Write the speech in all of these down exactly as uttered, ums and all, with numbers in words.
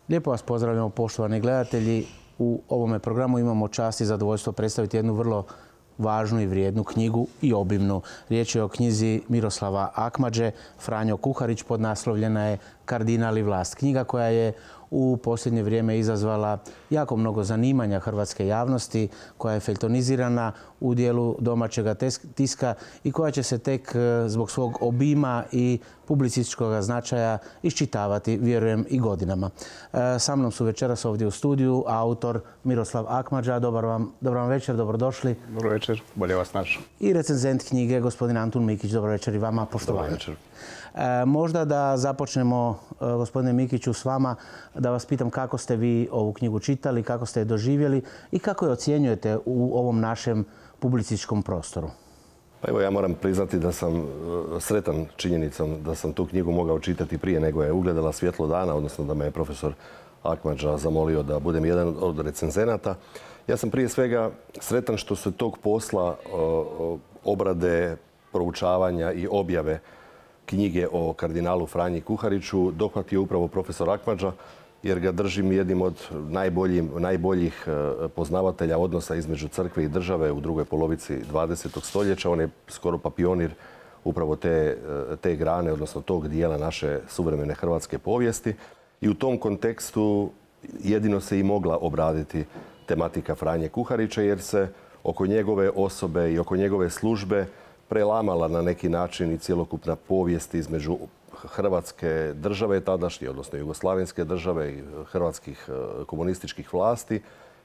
Lijepo vas pozdravljamo, poštovani gledatelji. U ovome programu imamo čast i zadovoljstvo predstaviti jednu vrlo važnu i vrijednu knjigu i obimnu. Riječ je o knjizi Miroslava Akmadže, Franjo Kuharić, podnaslovljena je Kardinal i vlast. Knjiga koja je u posljednje vrijeme izazvala jako mnogo zanimanja hrvatske javnosti, koja je feljtonizirana u dijelu domaćega tiska i koja će se tek zbog svog obima i publicističkog značaja iščitavati, vjerujem, i godinama. Sa mnom su večeras ovdje u studiju autor Miroslav Akmadža. Dobar vam, dobar vam večer, dobrodošli. Dobro večer, bolje vas našao. I recenzent knjige, gospodin Antun Mikić. Dobro večer i vama, poštovanje. Dobro večer. E, možda da započnemo, gospodine Mikiću, s vama, da vas pitam kako ste vi ovu knjigu čitali, kako ste je doživjeli i kako je ocjenjujete u ovom našem publicističkom prostoru. Pa evo, ja moram priznati da sam sretan činjenicom da sam tu knjigu mogao čitati prije nego je ugledala svjetlo dana, odnosno da me je profesor Akmadža zamolio da budem jedan od recenzenata. Ja sam prije svega sretan što se tog posla obrade, proučavanja i objave knjige o kardinalu Franji Kuhariću dohvatio upravo profesor Akmadža, jer ga držim jednim od najboljih poznavatelja odnosa između crkve i države u drugoj polovici dvadesetog stoljeća. On je skoro pa pionir upravo te, te grane, odnosno tog dijela naše suvremene hrvatske povijesti. I u tom kontekstu jedino se i mogla obraditi tematika Franje Kuharića, jer se oko njegove osobe i oko njegove službe prelamala na neki način i cjelokupna povijest između Hrvatske države tadašnje, odnosno Jugoslavenske države i hrvatskih komunističkih vlasti,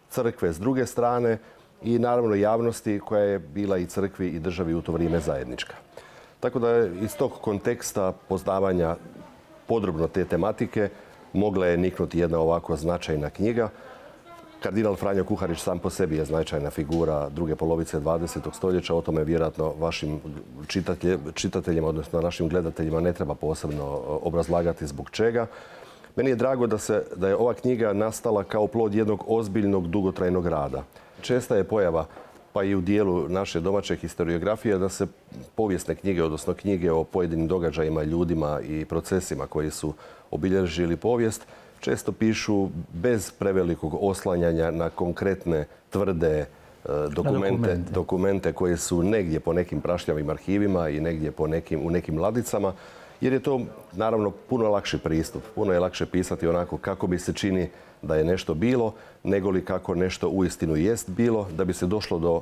crkve s druge strane i naravno javnosti koja je bila i crkvi i državi u to vrijeme zajednička. Tako da je iz tog konteksta poznavanja podrobno te tematike mogla je niknuti jedna ovako značajna knjiga. Kardinal Franjo Kuharić sam po sebi je značajna figura druge polovice dvadesetog stoljeća. O tome vjerojatno vašim čitateljima, odnosno našim gledateljima, ne treba posebno obrazlagati zbog čega. Meni je drago da, se, da je ova knjiga nastala kao plod jednog ozbiljnog, dugotrajnog rada. Česta je pojava, pa i u dijelu naše domaće historiografije, da se povijesne knjige, odnosno knjige o pojedinim događajima, ljudima i procesima koji su obilježili povijest, često pišu bez prevelikog oslanjanja na konkretne, tvrde dokumente, dokumente. dokumente koje su negdje po nekim prašljavim arhivima i negdje po nekim, u nekim ladicama, jer je to naravno puno lakši pristup. Puno je lakše pisati onako kako bi se čini da je nešto bilo, nego li kako nešto uistinu jest bilo, da bi se došlo do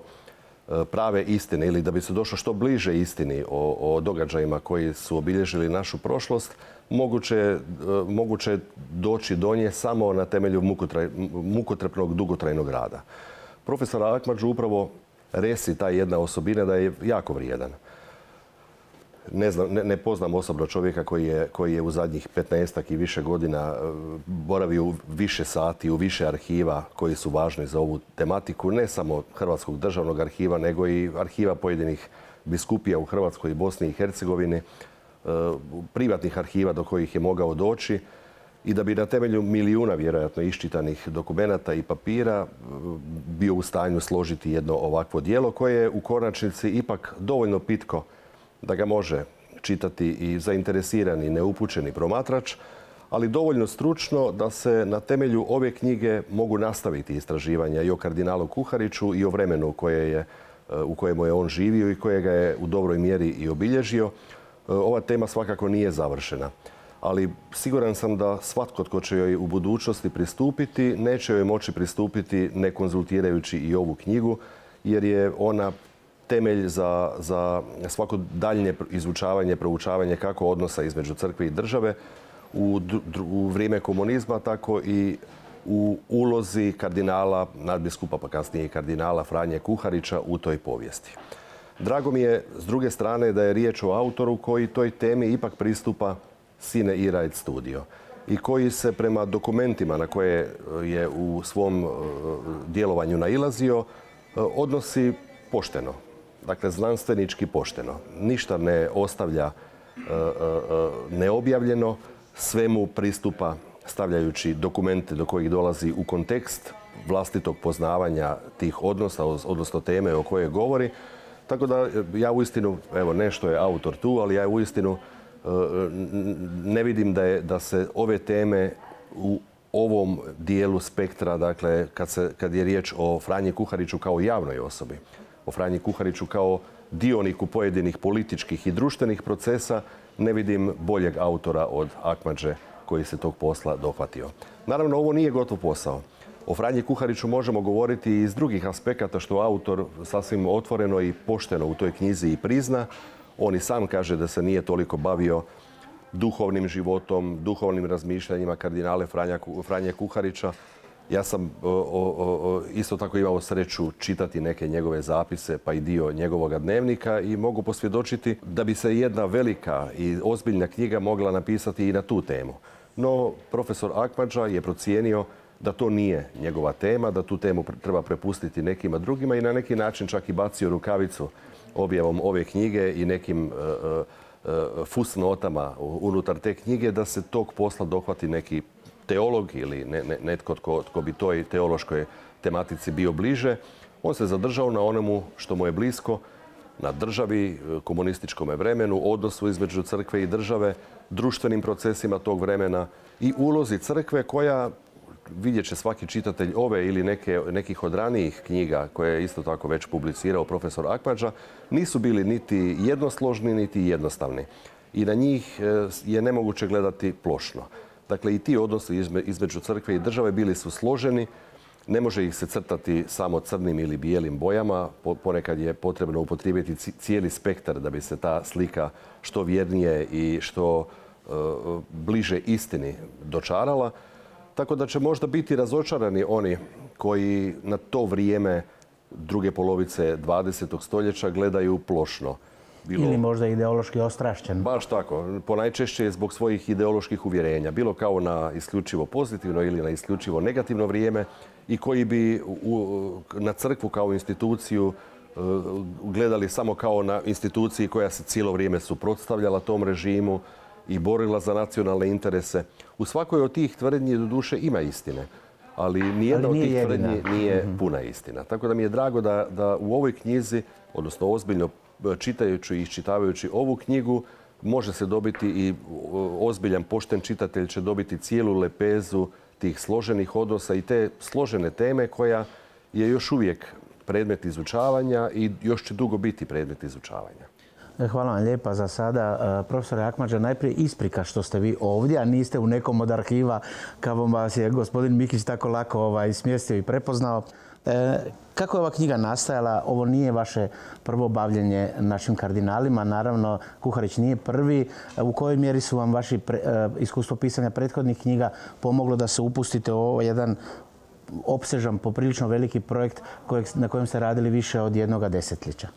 prave istine ili da bi se došlo što bliže istini o, o događajima koji su obilježili našu prošlost. Moguće, moguće doći do nje samo na temelju mukotraj, mukotrpnog dugotrajnog rada. Profesor Akmadžu upravo resi ta jedna osobina da je jako vrijedan. Ne, znam, ne, ne poznam osobno čovjeka koji je, koji je u zadnjih petnaestak i više godina boravio u više sati, u više arhiva koji su važni za ovu tematiku, ne samo Hrvatskog državnog arhiva, nego i arhiva pojedinih biskupija u Hrvatskoj i Bosni i Hercegovini, privatnih arhiva do kojih je mogao doći i da bi na temelju milijuna vjerojatno iščitanih dokumenata i papira bio u stanju složiti jedno ovakvo djelo koje je u konačnici ipak dovoljno pitko da ga može čitati i zainteresirani, neupućeni promatrač, ali dovoljno stručno da se na temelju ove knjige mogu nastaviti istraživanja i o kardinalu Kuhariću i o vremenu koje je, u kojemu je on živio i kojega je u dobroj mjeri i obilježio. Ova tema svakako nije završena, ali siguran sam da svatko tko će joj u budućnosti pristupiti, neće joj moći pristupiti ne konzultirajući i ovu knjigu, jer je ona temelj za, za svako daljnje izučavanje, proučavanje kako odnosa između crkve i države u, u vrijeme komunizma, tako i u ulozi kardinala, nadbiskupa pa kasnije i kardinala Franje Kuharića u toj povijesti. Drago mi je, s druge strane, da je riječ o autoru koji toj temi ipak pristupa sine ira et studio i koji se prema dokumentima na koje je u svom djelovanju nailazio odnosi pošteno. Dakle, znanstvenički pošteno. Ništa ne ostavlja neobjavljeno, svemu pristupa stavljajući dokumente do kojih dolazi u kontekst vlastitog poznavanja tih odnosa, odnosno teme o kojoj govori. Tako da ja uistinu, evo nešto je autor tu, ali ja uistinu ne vidim da, je, da se ove teme u ovom dijelu spektra, dakle, kad, se, kad je riječ o Franji Kuhariću kao javnoj osobi, o Franji Kuhariću kao dioniku pojedinih političkih i društvenih procesa, ne vidim boljeg autora od Akmadže koji se tog posla dohvatio. Naravno, ovo nije gotov posao. O Franji Kuhariću možemo govoriti i iz drugih aspekata, što autor sasvim otvoreno i pošteno u toj knjizi i prizna. On i sam kaže da se nije toliko bavio duhovnim životom, duhovnim razmišljanjima kardinale Franje Kuharića. Ja sam o, o, o, isto tako imao sreću čitati neke njegove zapise, pa i dio njegovog dnevnika, i mogu posvjedočiti da bi se jedna velika i ozbiljna knjiga mogla napisati i na tu temu. No, profesor Akmadža je procijenio da to nije njegova tema, da tu temu treba prepustiti nekima drugima i na neki način čak i bacio rukavicu objavom ove knjige i nekim uh, uh, fusnotama unutar te knjige da se tog posla dohvati neki teolog ili ne, ne, netko tko, tko bi toj teološkoj tematici bio bliže. On se zadržao na onomu što mu je blisko, na državi, komunističkom vremenu, odnosu između crkve i države, društvenim procesima tog vremena i ulozi crkve koja, vidjet će svaki čitatelj ove ili neke, nekih od ranijih knjiga koje je isto tako već publicirao profesor Akmadža, nisu bili niti jednosložni, niti jednostavni. I na njih je nemoguće gledati plošno. Dakle, i ti odnosi između crkve i države bili su složeni. Ne može ih se crtati samo crnim ili bijelim bojama. Ponekad je potrebno upotrijebiti cijeli spektar da bi se ta slika što vjernije i što uh, bliže istini dočarala. Tako da će možda biti razočarani oni koji na to vrijeme druge polovice dvadesetog stoljeća gledaju plošno. Bilo, ili možda ideološki ostrašćen. Baš tako. Ponajčešće je zbog svojih ideoloških uvjerenja. Bilo kao na isključivo pozitivno ili na isključivo negativno vrijeme i koji bi u, na crkvu kao instituciju uh, gledali samo kao na instituciji koja se cijelo vrijeme suprotstavljala tom režimu i borila za nacionalne interese. U svakoj od tih tvrdnji do duše ima istine, ali nijedna ali od tih jedina. tvrdnji nije mm-hmm. puna istina. Tako da mi je drago da, da u ovoj knjizi, odnosno ozbiljno čitajući i iščitavajući ovu knjigu, može se dobiti i ozbiljan pošten čitatelj će dobiti cijelu lepezu tih složenih odnosa i te složene teme koja je još uvijek predmet izučavanja i još će dugo biti predmet izučavanja. Hvala vam lijepa za sada. Profesore Akmadža, najprije isprika što ste vi ovdje, a niste u nekom od arhiva kao vas je gospodin Mikić tako lako ovaj, smjestio i prepoznao. E, kako je ova knjiga nastajala? Ovo nije vaše prvo bavljenje našim kardinalima. Naravno, Kuharić nije prvi. U kojoj mjeri su vam vaši pre, e, iskustvo pisanja prethodnih knjiga pomoglo da se upustite u ovo jedan opsežan, poprilično veliki projekt kojeg, na kojem ste radili više od jednoga desetljeća?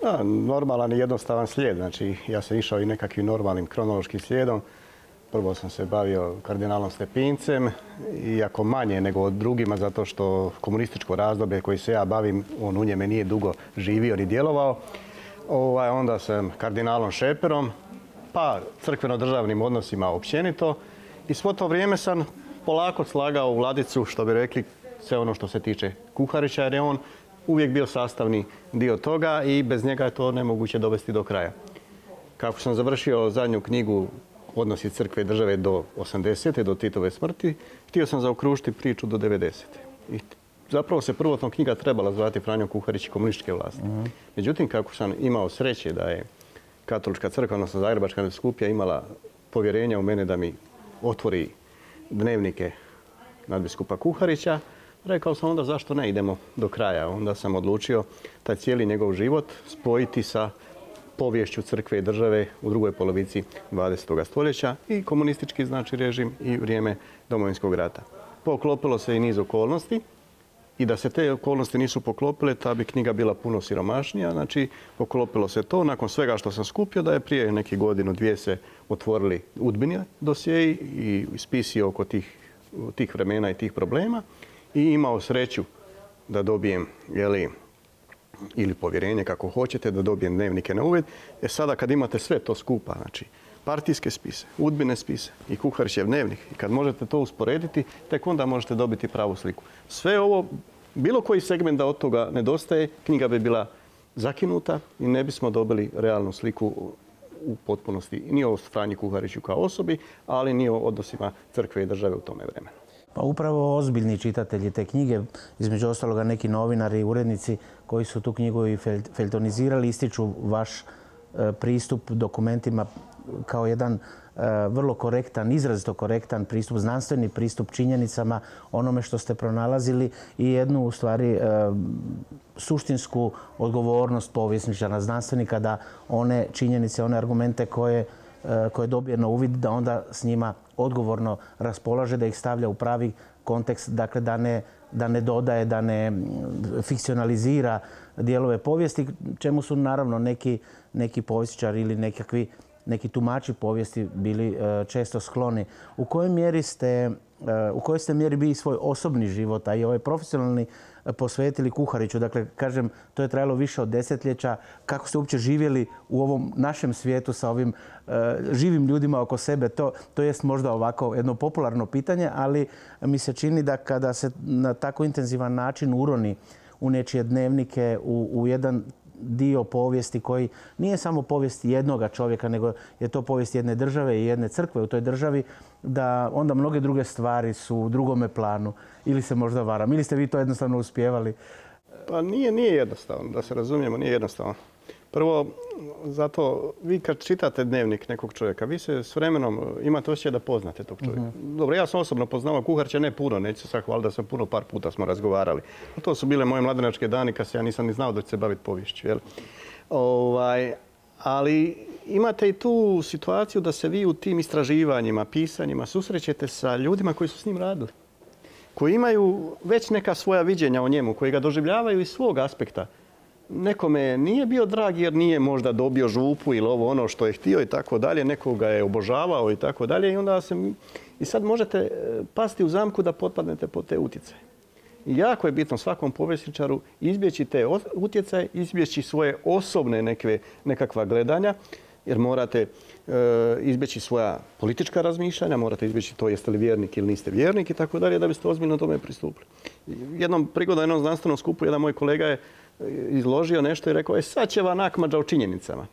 Da, normalan i jednostavan slijed. Znači, ja sam išao i nekakvim normalnim kronološkim slijedom. Prvo sam se bavio kardinalom Stepincem, iako manje nego od drugima, zato što komunističko razdoblje koje se ja bavim, on u njeme nije dugo živio ni djelovao. Ovaj, onda sam kardinalom Šeperom, pa crkveno-državnim odnosima općenito. I svo to vrijeme sam polako slagao u ladicu, što bi rekli, sve ono što se tiče Kuharića, jer je on uvijek bio sastavni dio toga i bez njega je to nemoguće dovesti do kraja. Kako sam završio zadnju knjigu Odnosi crkve i države do osamdesete, do Titove smrti, htio sam zaokružiti priču do devedesete. I zapravo se prvotno knjiga trebala zvati Franjo Kuharić i komunističke vlasti. Uh-huh. Međutim, kako sam imao sreće da je Katolička crkva, odnosno Zagrebačka nadbiskupija, imala povjerenja u mene da mi otvori dnevnike nadbiskupa Kuharića, rekao sam onda zašto ne idemo do kraja. Onda sam odlučio taj cijeli njegov život spojiti sa poviješću crkve i države u drugoj polovici dvadesetog stoljeća i komunistički znači režim i vrijeme Domovinskog rata. Poklopilo se i niz okolnosti i da se te okolnosti nisu poklopile, ta bi knjiga bila puno siromašnija. Znači, poklopilo se to nakon svega što sam skupio da je prije nekih godinu, dvije se otvorili udbini dosjeji i spisi oko tih, tih vremena i tih problema i imao sreću da dobijem, jeli, ili povjerenje, kako hoćete, da dobijem dnevnike na uvid. E sada kad imate sve to skupa, znači partijske spise, udbine spise i Kuharićev dnevnik, i kad možete to usporediti, tek onda možete dobiti pravu sliku. Sve ovo, bilo koji segment da od toga nedostaje, knjiga bi bila zakinuta i ne bismo dobili realnu sliku u potpunosti ni o Franji Kuhariću kao osobi, ali ni o odnosima crkve i države u tome vremenu. Pa upravo ozbiljni čitatelji te knjige, između ostaloga neki novinari i urednici koji su tu knjigu i feljtonizirali, ističu vaš pristup dokumentima kao jedan vrlo korektan, izrazito korektan pristup, znanstveni pristup činjenicama, onome što ste pronalazili i jednu u stvari suštinsku odgovornost povjesničara, znanstvenika da one činjenice, one argumente koje koje dobije na uvid, da onda s njima odgovorno raspolaže, da ih stavlja u pravi kontekst, dakle da ne, da ne dodaje, da ne fikcionalizira dijelove povijesti, čemu su naravno neki, neki povjesničari ili nekakvi, neki tumači povijesti bili često skloni. U kojoj mjeri ste, u kojoj ste mjeri bili svoj osobni život, a i ovaj profesionalni, posvetili Kuhariću? Dakle, kažem, to je trajalo više od desetljeća. Kako ste uopće živjeli u ovom našem svijetu sa ovim uh, živim ljudima oko sebe? To, to jest možda ovako jedno popularno pitanje, ali mi se čini da kada se na tako intenzivan način uroni u nečije dnevnike, u, u jedan dio povijesti koji nije samo povijest jednoga čovjeka, nego je to povijest jedne države i jedne crkve u toj državi, da onda mnoge druge stvari su u drugome planu. Ili se možda varam, ili ste vi to jednostavno uspijevali? Pa nije, nije jednostavno, da se razumijemo, nije jednostavno. Prvo, zato vi kad čitate dnevnik nekog čovjeka, vi se s vremenom imate osjećaj da poznate tog čovjeka. Uh-huh. Dobro, ja sam osobno poznao Kuharića, ne puno, neću se sad hvaliti da sam puno, par puta smo razgovarali. To su bile moje mladenačke dani kad se ja nisam ni znao da ću se baviti poviješću. Jel? Ovaj, ali imate i tu situaciju da se vi u tim istraživanjima, pisanjima susrećete sa ljudima koji su s njim radili, koji imaju već neka svoja viđenja o njemu, koji ga doživljavaju iz svog aspekta. Nekome nije bio drag jer nije možda dobio župu ili ovo ono što je htio i tako dalje, nekoga je obožavao i tako dalje i onda se i sad možete pasti u zamku da potpadnete pod te utjecaje. I jako je bitno svakom povjesničaru izbjeći te utjecaje, izbjeći svoje osobne neke, nekakva gledanja, jer morate e, izbjeći svoja politička razmišljanja, morate izbjeći to jeste li vjernik ili niste vjernik i tako dalje da biste ozbiljno tome pristupili. Jednom prigodom na jednom znanstvenom skupu jedan moj kolega je izložio nešto i rekao, e sad će vam Akmadža o činjenicama.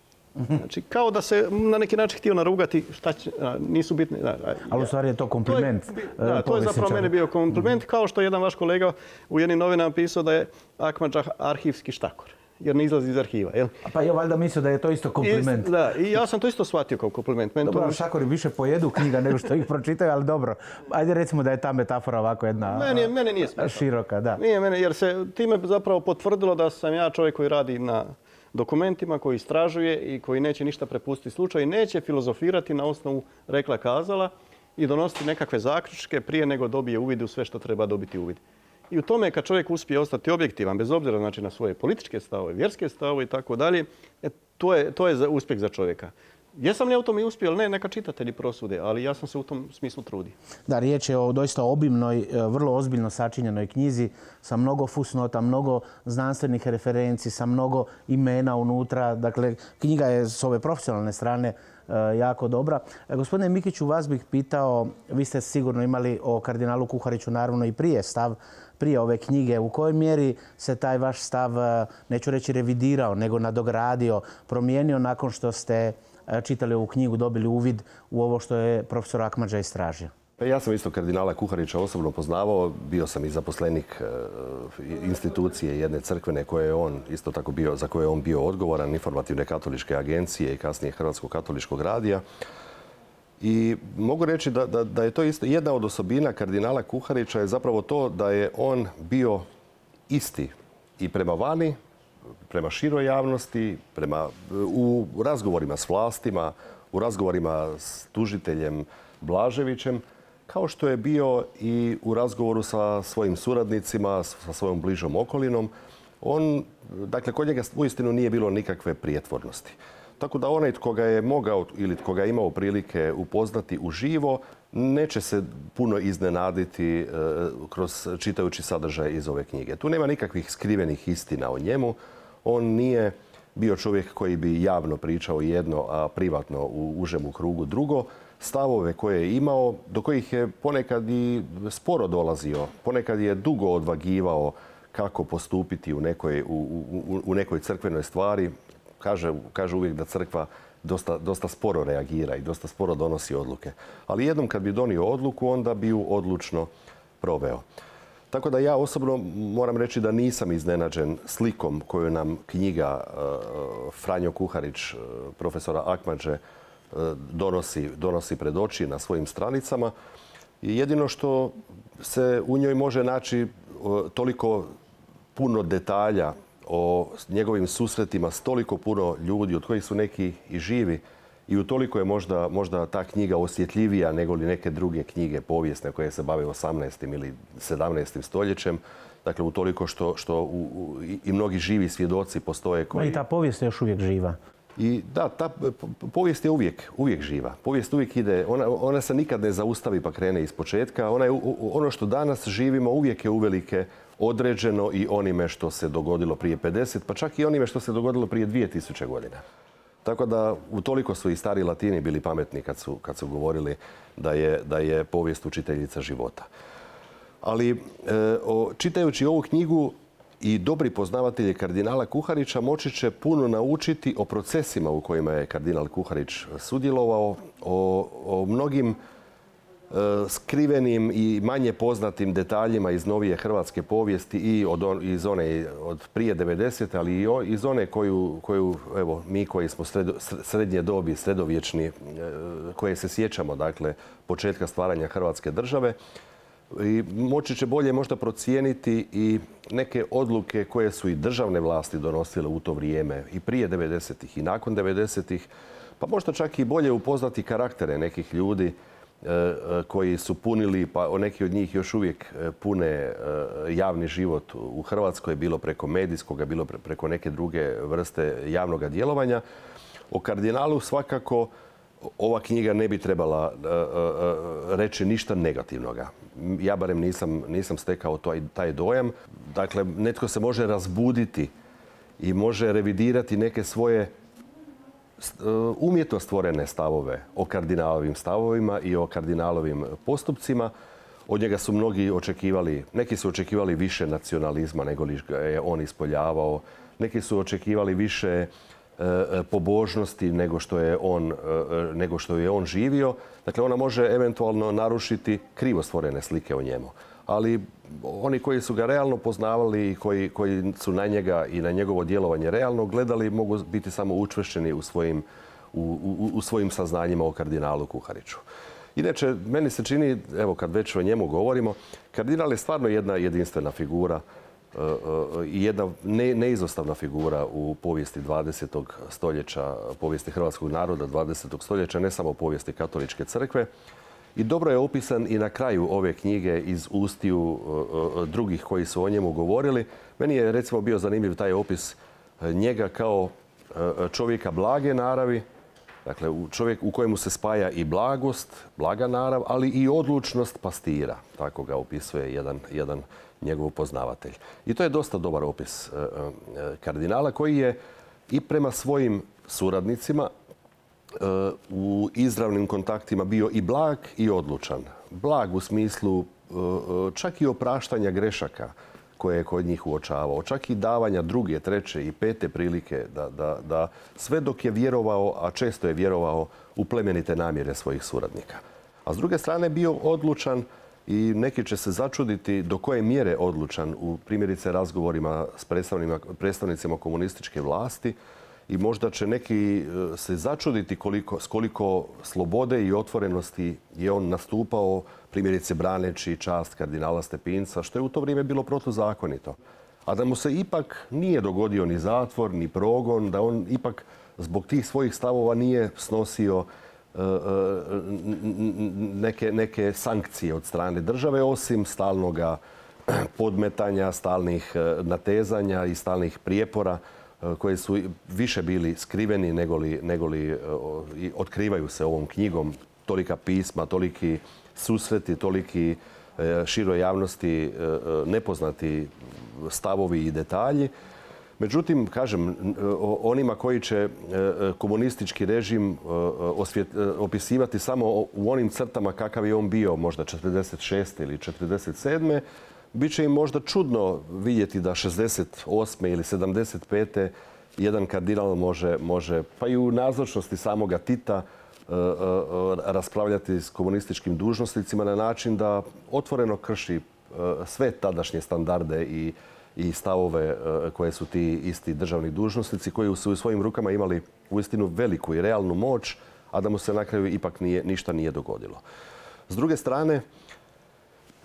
Znači, kao da se na neki način htio narugati, šta će, a, nisu bitne. Da, a, Ali u stvari je to kompliment. To je, da, to je zapravo meni bio kompliment, kao što je jedan vaš kolega u jednim novinama pisao da je Akmadža arhivski štakor, jer ne izlazi iz arhiva. Jel? Pa ja valjda mislio da je to isto kompliment. I, da, i ja sam to isto shvatio kao kompliment. Meni dobro, to... štakori više pojedu knjiga nego što ih pročitaju, ali dobro. Ajde recimo da je ta metafora ovako jedna meni, meni nije široka. Da. Nije mene, jer se time zapravo potvrdilo da sam ja čovjek koji radi na dokumentima, koji istražuje i koji neće ništa prepustiti slučaju i neće filozofirati na osnovu rekla kazala i donositi nekakve zaključke prije nego dobije uvid u sve što treba dobiti uvid. I u tome kad čovjek uspije ostati objektivan, bez obzira znači, na svoje političke stavove, vjerske stavove i tako dalje, to je, to je uspjeh za čovjeka. Jesam li ja u tome uspio ili ne, neka čitatelji prosude, ali ja sam se u tom smislu trudio. Da, riječ je o doista obimnoj, vrlo ozbiljno sačinjenoj knjizi sa mnogo fusnota, mnogo znanstvenih referenci, sa mnogo imena unutra. Dakle, knjiga je s ove profesionalne strane jako dobra. Gospodine Mikiću, vas bih pitao, vi ste sigurno imali o kardinalu Kuhariću naravno i prije stav, prije ove knjige. U kojoj mjeri se taj vaš stav, neću reći revidirao, nego nadogradio, promijenio nakon što ste čitali ovu knjigu, dobili uvid u ovo što je profesor Akmadža istražio? Ja sam isto kardinala Kuharića osobno poznavao. Bio sam i zaposlenik institucije jedne crkvene koje je on isto tako bio, za koje je on bio odgovoran, Informativne katoličke agencije i kasnije Hrvatskog katoličkog radija. I mogu reći da, da, da je to isto jedna od osobina kardinala Kuharića je zapravo to da je on bio isti i prema vani, prema široj javnosti, prema, u razgovorima s vlastima, u razgovorima s tužiteljem Blaževićem, kao što je bio i u razgovoru sa svojim suradnicima, sa svojom bližom okolinom. On, dakle, kod njega uistinu nije bilo nikakve prijetvornosti. Tako da onaj tko ga je mogao ili tko ga je imao prilike upoznati uživo, neće se puno iznenaditi e, kroz čitajući sadržaj iz ove knjige. Tu nema nikakvih skrivenih istina o njemu. On nije bio čovjek koji bi javno pričao jedno, a privatno u užemu krugu drugo. Stavove koje je imao, do kojih je ponekad i sporo dolazio, ponekad je dugo odvagivao kako postupiti u nekoj, u, u, u nekoj crkvenoj stvari. Kaže, kaže uvijek da crkva dosta, dosta sporo reagira i dosta sporo donosi odluke. Ali jednom kad bi donio odluku, onda bi ju odlučno proveo. Tako da ja osobno moram reći da nisam iznenađen slikom koju nam knjiga Franjo Kuharić, profesora Akmadže, donosi, donosi pred oči na svojim stranicama. I jedino što se u njoj može naći toliko puno detalja o njegovim susretima s toliko puno ljudi, od kojih su neki i živi, i utoliko je možda, možda ta knjiga osjetljivija nego li neke druge knjige povijesne koje se bave osamnaestim ili sedamnaestim stoljećem. Dakle, utoliko što, što u, u, i mnogi živi svjedoci postoje koji... I ta povijest je još uvijek živa. I da, ta povijest je uvijek, uvijek živa. Povijest uvijek ide, ona, ona se nikad ne zaustavi pa krene iz početka. Ona je, ono što danas živimo uvijek je uvelike određeno i onime što se dogodilo prije pedeset, pa čak i onime što se dogodilo prije dvije tisuće godina. Tako da utoliko su i stari Latini bili pametni kad su, kad su govorili da je, da je povijest učiteljica života. Ali e, o, čitajući ovu knjigu i dobri poznavatelji kardinala Kuharića moći će puno naučiti o procesima u kojima je kardinal Kuharić sudjelovao, o, o mnogim e, skrivenim i manje poznatim detaljima iz novije hrvatske povijesti i od on, iz one od prije devedesete, ali i iz one koju, koju evo, mi koji smo sredo, srednje dobi, sredovječni, e, koje se sjećamo, dakle, početka stvaranja Hrvatske države. I moći će bolje možda procijeniti i neke odluke koje su i državne vlasti donosile u to vrijeme i prije devedesetih i nakon devedesetih, pa možda čak i bolje upoznati karaktere nekih ljudi koji su punili, pa neki od njih još uvijek pune javni život u Hrvatskoj, bilo preko medijskoga, bilo preko neke druge vrste javnog djelovanja. O kardinalu svakako ova knjiga ne bi trebala reći ništa negativnoga. Ja barem nisam, nisam stekao taj, taj dojam. Dakle, netko se može razbuditi i može revidirati neke svoje umjetno stvorene stavove o kardinalovim stavovima i o kardinalovim postupcima. Od njega su mnogi očekivali, neki su očekivali više nacionalizma nego li je on ispoljavao. Neki su očekivali više pobožnosti nego što je on, nego što je on živio. Dakle, ona može eventualno narušiti krivo stvorene slike o njemu. Ali oni koji su ga realno poznavali i koji, koji su na njega i na njegovo djelovanje realno gledali mogu biti samo učvršćeni u svojim, u, u, u svojim saznanjima o kardinalu Kuhariću. Inače, meni se čini, evo kad već o njemu govorimo, kardinal je stvarno jedna jedinstvena figura i jedna ne, neizostavna figura u povijesti dvadesetog stoljeća, povijesti hrvatskog naroda dvadesetog stoljeća, ne samo povijesti katoličke crkve. I dobro je opisan i na kraju ove knjige iz ustiju drugih koji su o njemu govorili. Meni je recimo bio zanimljiv taj opis njega kao čovjeka blage naravi, dakle čovjek u kojemu se spaja i blagost, blaga narav, ali i odlučnost pastira. Tako ga opisuje jedan, jedan njegov poznavatelj. I to je dosta dobar opis kardinala koji je i prema svojim suradnicima u izravnim kontaktima bio i blag i odlučan. Blag u smislu čak i opraštanja grešaka koje je kod njih uočavao, čak i davanja druge, treće i pete prilike da, da, da sve dok je vjerovao, a često je vjerovao u plemenite namjere svojih suradnika. A s druge strane bio odlučan i neki će se začuditi do koje mjere odlučan u primjerice razgovorima s predstavnicima komunističke vlasti i možda će neki se začuditi koliko, s koliko slobode i otvorenosti je on nastupao, primjerice braneći čast kardinala Stepinca, što je u to vrijeme bilo protuzakonito. A da mu se ipak nije dogodio ni zatvor, ni progon, da on ipak zbog tih svojih stavova nije snosio neke, neke sankcije od strane države, osim stalnoga podmetanja, stalnih natezanja i stalnih prijepora koji su više bili skriveni nego li, nego li otkrivaju se ovom knjigom. Tolika pisma, toliki susreti, toliki široj javnosti nepoznati stavovi i detalji. Međutim, kažem, onima koji će komunistički režim opisivati samo u onim crtama kakav je on bio, možda četrdeset šeste ili četrdeset sedme, bit će im možda čudno vidjeti da šezdeset osme ili sedamdeset pete jedan kardinal može, može, pa i u nazočnosti samoga Tita, raspravljati s komunističkim dužnosnicima na način da otvoreno krši sve tadašnje standarde i, i stavove koje su ti isti državni dužnosnici koji su u svojim rukama imali uistinu veliku i realnu moć, a da mu se na kraju ipak nije, ništa nije dogodilo. S druge strane,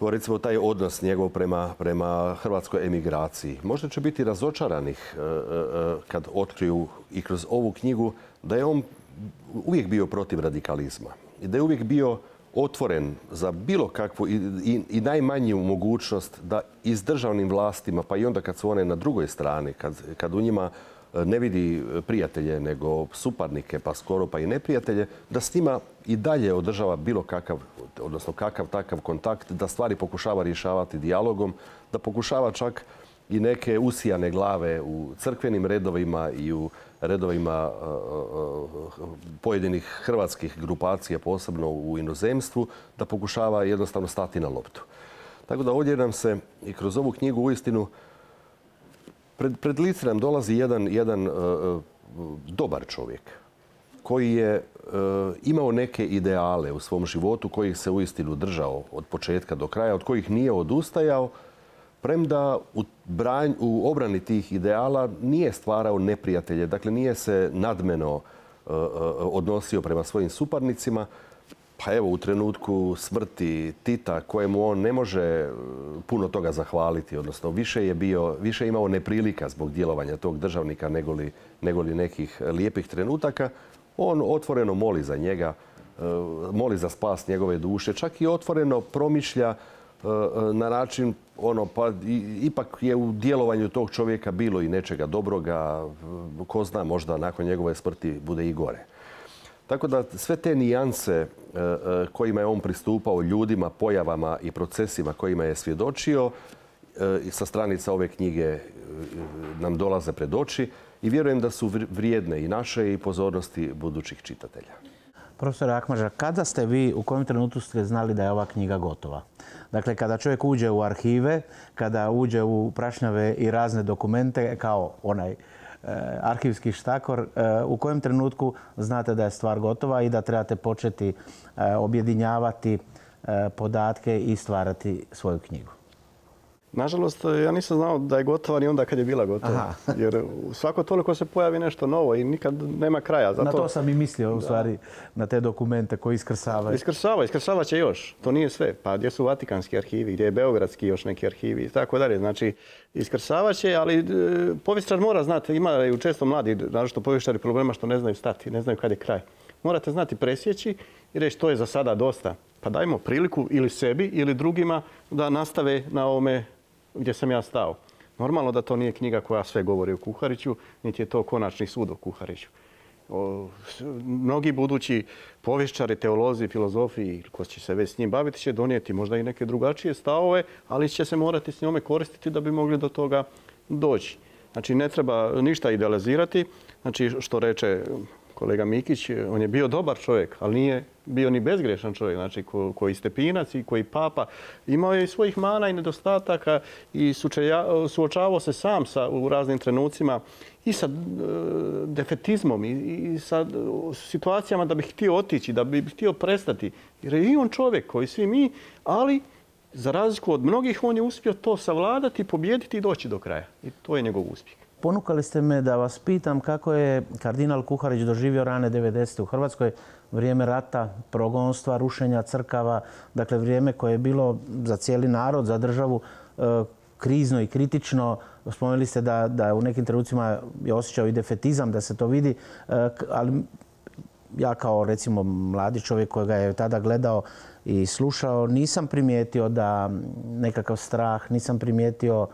recimo taj odnos njegov prema, prema hrvatskoj emigraciji. Možda će biti razočaranih kad otkriju i kroz ovu knjigu da je on uvijek bio protiv radikalizma i da je uvijek bio otvoren za bilo kakvu i, i, i najmanju mogućnost da i s državnim vlastima, pa i onda kad su one na drugoj strani, kad, kad u njima ne vidi prijatelje nego suparnike, pa skoro pa i neprijatelje, da s njima i dalje održava bilo kakav, odnosno kakav takav kontakt, da stvari pokušava rješavati dijalogom, da pokušava čak i neke usijane glave u crkvenim redovima i u redovima pojedinih hrvatskih grupacija, posebno u inozemstvu, da pokušava jednostavno stati na loptu. Tako da ovdje nam se i kroz ovu knjigu uistinu pred, pred lice nam dolazi jedan, jedan uh, dobar čovjek koji je uh, imao neke ideale u svom životu kojih se uistinu držao od početka do kraja, od kojih nije odustajao, premda u, branj, u obrani tih ideala nije stvarao neprijatelje, dakle nije se nadmeno uh, odnosio prema svojim suparnicima. Pa evo, u trenutku smrti Tita, kojemu on ne može puno toga zahvaliti, odnosno više je, bio, više je imao neprilika zbog djelovanja tog državnika negoli, negoli nekih lijepih trenutaka, on otvoreno moli za njega, moli za spas njegove duše, čak i otvoreno promišlja na način, ono, pa ipak je u djelovanju tog čovjeka bilo i nečega dobroga, ko zna, možda nakon njegove smrti bude i gore. Tako da sve te nijanse kojima je on pristupao ljudima, pojavama i procesima kojima je svjedočio sa stranica ove knjige nam dolaze pred oči i vjerujem da su vrijedne i naše i pozornosti budućih čitatelja. Profesor Akmađa, kada ste vi, u kojem trenutku ste znali da je ova knjiga gotova? Dakle, kada čovjek uđe u arhive, kada uđe u prašnjave i razne dokumente kao onaj arhivski štakor, u kojem trenutku znate da je stvar gotova i da trebate početi objedinjavati podatke i stvarati svoju knjigu? Nažalost, ja nisam znao da je gotova ni onda kad je bila gotova. Aha. Jer svako toliko se pojavi nešto novo i nikad nema kraja. Zato... Na to sam i mislio, u stvari, na te dokumente koji iskrsavaju. Iskršava, iskršava će još. To nije sve. Pa gdje su Vatikanski arhivi, gdje je Beogradski još neki arhivi i tako dalje. Znači, iskršava će, ali e, povjesničar mora znati, imaju često mladi, naročito povjesničari, problema što ne znaju stati, ne znaju kad je kraj. Morate znati presjeći i reći to je za sada dosta. Pa dajmo priliku ili sebi ili drugima da nastave na ovome gdje sam ja stao. Normalno da to nije knjiga koja sve govori o Kuhariću, niti je to konačni sud o Kuhariću. O, mnogi budući povjesničari, teolozi, filozofi, ko će se već s njim baviti, će donijeti možda i neke drugačije stavove, ali će se morati s njome koristiti da bi mogli do toga doći. Znači, ne treba ništa idealizirati. Znači, što reče kolega Mikić, on je bio dobar čovjek, ali nije bio ni bezgrešan čovjek, znači ko, koji Stepinac i koji Papa. Imao je i svojih mana i nedostataka i sučeja, suočavao se sam sa, u raznim trenucima i sa e, defetizmom i, i sa situacijama da bi htio otići, da bi htio prestati. Jer je i on čovjek koji svi mi, ali za razliku od mnogih on je uspio to savladati, pobijediti i doći do kraja. I to je njegov uspjeh. Ponukali ste me da vas pitam kako je kardinal Kuharić doživio rane devedesete u Hrvatskoj, vrijeme rata, progonstva, rušenja crkava, dakle vrijeme koje je bilo za cijeli narod, za državu krizno i kritično. Spomenuli ste da, da u nekim trenucima je osjećao i defetizam, da se to vidi, ali ja kao recimo mladi čovjek kojega je tada gledao i slušao, nisam primijetio da nekakav strah, nisam primijetio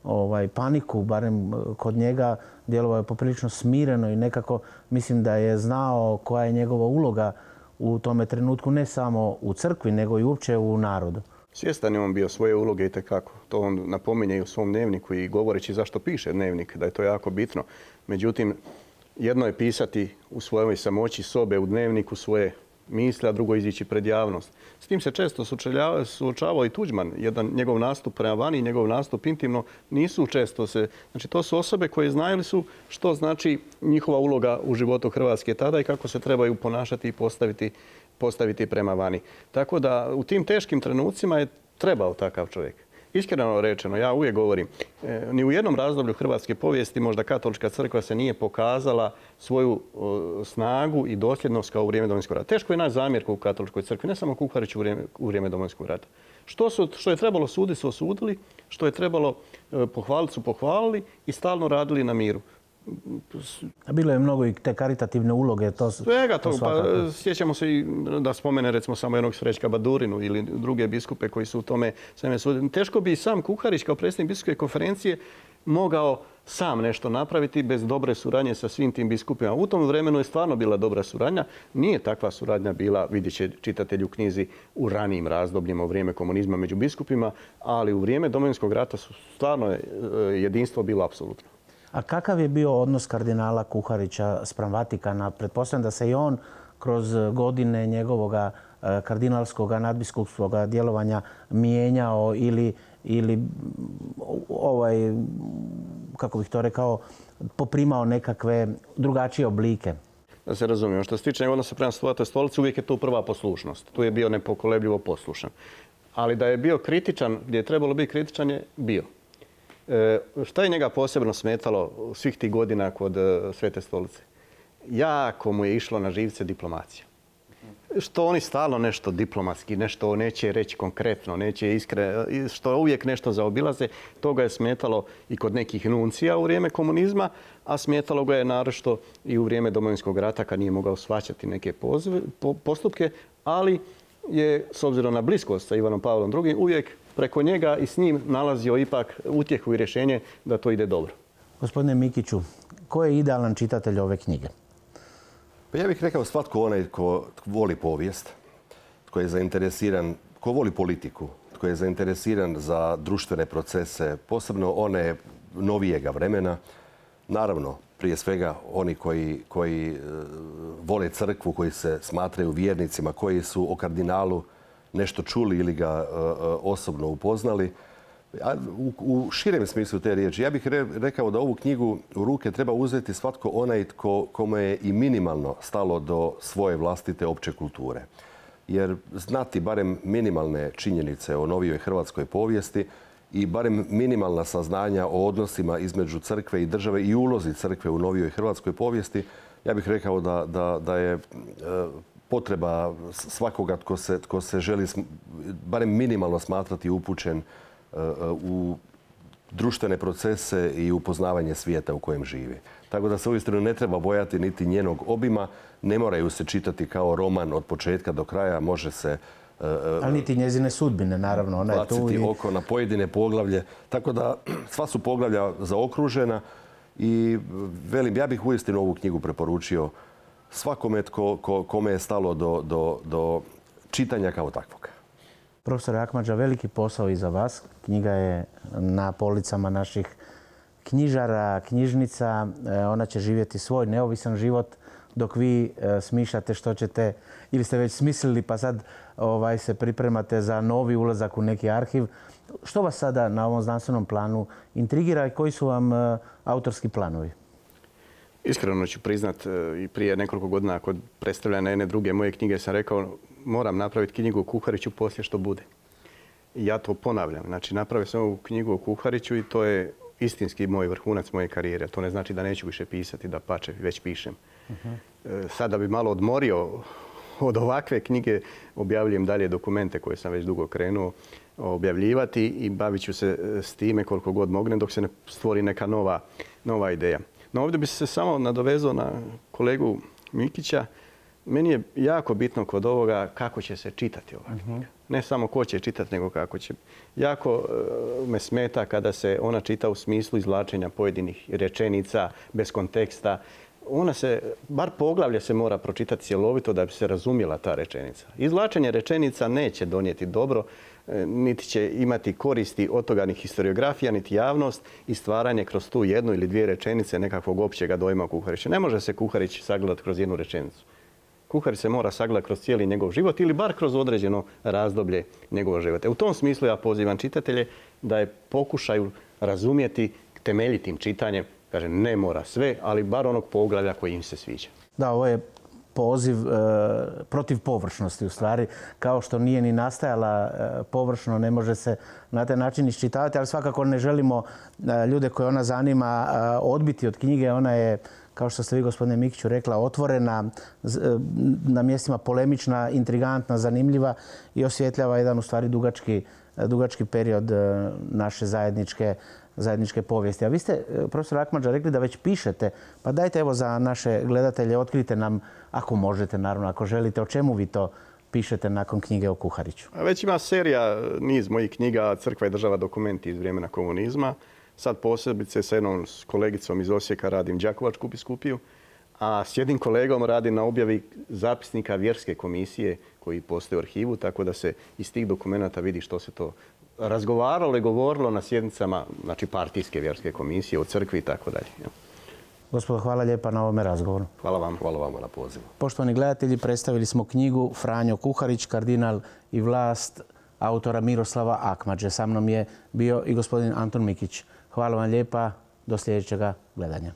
ovaj, paniku, barem kod njega. Djelovao je poprilično smireno i nekako mislim da je znao koja je njegova uloga u tome trenutku, ne samo u crkvi, nego i uopće u narodu. Svjestan je on bio svoje uloge i tekako. To on napominje i u svom dnevniku i govoreći zašto piše dnevnik, da je to jako bitno. Međutim, jedno je pisati u svojoj samoći sobe u dnevniku svoje misli, a drugo izići pred javnost. S tim se često suočavao i Tuđman. Jedan njegov nastup prema vani i njegov nastup intimno nisu često se... Znači, to su osobe koje znali su što znači njihova uloga u životu Hrvatske tada i kako se trebaju ponašati i postaviti, postaviti prema vani. Tako da u tim teškim trenucima je trebao takav čovjek. Iskreno rečeno, ja uvijek govorim, e, ni u jednom razdoblju hrvatske povijesti možda katolička crkva se nije pokazala svoju o, snagu i dosljednost kao u vrijeme Domovinskog rata. Teško je naći zamjerku u katoličkoj crkvi, ne samo Kuhariću u vrijeme, u vrijeme Domovinskog rata. Što, su, što je trebalo suditi su osudili, što je trebalo e, pohvaliti su pohvalili i stalno radili na miru. A bilo je mnogo i te karitativne uloge. To, Svega to to, pa sjećamo se i da spomene recimo samo jednog Srećka Badurinu ili druge biskupe koji su u tome sveme sudili. Teško bi i sam Kuharić kao predsjednik biskupske konferencije mogao sam nešto napraviti bez dobre suradnje sa svim tim biskupima. U tom vremenu je stvarno bila dobra suradnja. Nije takva suradnja bila, vidjet će čitatelj u knjizi, u ranijim razdobljima, u vrijeme komunizma među biskupima, ali u vrijeme Domovinskog rata su stvarno jedinstvo bilo apsolutno. A kakav je bio odnos kardinala Kuharića spram Vatikana? Pretpostavljam da se i on kroz godine njegovog kardinalskog nadbiskupskog djelovanja mijenjao ili, ili ovaj, kako bih to rekao, poprimao nekakve drugačije oblike. Da se razumijemo, što se tiče odnosa prema Svetoj stolici, uvijek je tu prva poslušnost. Tu je bio nepokolebljivo poslušan. Ali da je bio kritičan, gdje je trebalo biti kritičan, je bio. E, šta je njega posebno smetalo svih tih godina kod e, Svete stolice? Jako mu je išlo na živce diplomacija. Što oni stalno nešto diplomatski, nešto neće reći konkretno, neće iskre, što uvijek nešto zaobilaze, toga je smetalo i kod nekih nuncija u vrijeme komunizma, a smetalo ga je naročito i u vrijeme Domovinskog rata kad nije mogao shvaćati neke pozive, po, postupke, ali je, s obzirom na bliskost sa Ivanom Pavlom drugim, uvijek preko njega i s njim nalazio ipak utjehu i rješenje da to ide dobro. Gospodine Mikiću, ko je idealan čitatelj ove knjige? Pa ja bih rekao svatko onaj ko voli povijest, tko je zainteresiran, ko voli politiku, tko je zainteresiran za društvene procese, posebno one novijega vremena. Naravno, prije svega oni koji, koji vole crkvu, koji se smatraju vjernicima, koji su o kardinalu nešto čuli ili ga osobno upoznali. A u, u širem smislu te riječi, ja bih re, rekao da ovu knjigu u ruke treba uzeti svatko onaj tko, kome je i minimalno stalo do svoje vlastite opće kulture. Jer znati barem minimalne činjenice o novijoj hrvatskoj povijesti i barem minimalna saznanja o odnosima između crkve i države i ulozi crkve u novijoj hrvatskoj povijesti, ja bih rekao da, da, da je potreba svakoga tko se, tko se želi barem minimalno smatrati upućen u društvene procese i upoznavanje svijeta u kojem živi. Tako da se uistinu ne treba bojati niti njenog obima, ne moraju se čitati kao roman od početka do kraja, može se ali niti njezine sudbine, naravno. Ona je tu baciti i... oko na pojedine poglavlje. Tako da sva su poglavlja zaokružena i velim, ja bih uistinu ovu knjigu preporučio svakome tko, ko, kome je stalo do, do, do čitanja kao takvog. Profesor Akmadža, veliki posao iza vas. Knjiga je na policama naših knjižara, knjižnica. Ona će živjeti svoj neovisan život dok vi smišljate što ćete, ili ste već smislili pa sad ovaj, se pripremate za novi ulazak u neki arhiv. Što vas sada na ovom znanstvenom planu intrigira i koji su vam autorski planovi? Iskreno ću priznat, i prije nekoliko godina kod predstavljanja jedne druge moje knjige sam rekao moram napraviti knjigu o Kuhariću poslije što bude. I ja to ponavljam. Znači, napravio sam ovu knjigu o Kuhariću i to je istinski moj vrhunac moje karijere. To ne znači da neću više pisati, da pače, već pišem. Uh-huh. Sada bi malo odmorio od ovakve knjige, objavljujem dalje dokumente koje sam već dugo krenuo objavljivati i bavit ću se s time koliko god mognem dok se ne stvori neka nova, nova ideja. No ovdje bi se samo nadovezao na kolegu Mikića. Meni je jako bitno kod ovoga kako će se čitati ova knjiga. Uh-huh. Ne samo ko će čitati, nego kako će. Jako uh, me smeta kada se ona čita u smislu izvlačenja pojedinih rečenica, bez konteksta. Ona se, bar poglavlje se mora pročitati cjelovito da bi se razumjela ta rečenica. Izvlačenje rečenica neće donijeti dobro, niti će imati koristi od toga ni historiografija, niti javnost i stvaranje kroz tu jednu ili dvije rečenice nekakvog općega dojma o Kuhariću. Ne može se Kuharić sagledati kroz jednu rečenicu. Kuharić se mora sagledati kroz cijeli njegov život ili bar kroz određeno razdoblje njegovog života. U tom smislu ja pozivam čitatelje da je pokušaju razumjeti temeljitim čitanjem. Kažem, ne mora sve, ali bar onog poglavlja koji im se sviđa. Da, ovo je poziv e, protiv površnosti u stvari. Kao što nije ni nastajala e, površno, ne može se na taj način iščitavati, ali svakako ne želimo e, ljude koje ona zanima e, odbiti od knjige. Ona je, kao što ste vi, gospodine Mikiću, rekla, otvorena, z, e, na mjestima polemična, intrigantna, zanimljiva i osvjetljava jedan u stvari dugački, dugački period e, naše zajedničke zajedničke povijesti. A vi ste, profesor Akmadža, rekli da već pišete. Pa dajte evo za naše gledatelje, otkrite nam, ako možete, naravno, ako želite, o čemu vi to pišete nakon knjige o Kuhariću. A već ima serija, niz mojih knjiga, Crkva i država, dokumenti iz vremena komunizma. Sad posebice sa jednom kolegicom iz Osijeka radim Đakovačku biskupiju, a s jednim kolegom radim na objavi zapisnika vjerske komisije koji postoje u arhivu, tako da se iz tih dokumenata vidi što se to razgovaralo i govorilo na sjednicama, znači partijske vjerske komisije, o crkvi i tako dalje. Gospodo, hvala lijepa na ovome razgovoru. Hvala vam. Hvala vama na pozivu. Poštovani gledatelji, predstavili smo knjigu Franjo Kuharić, kardinal i vlast, autora Miroslava Akmadže. Sa mnom je bio i gospodin Anton Mikić. Hvala vam lijepa. Do sljedećega gledanja.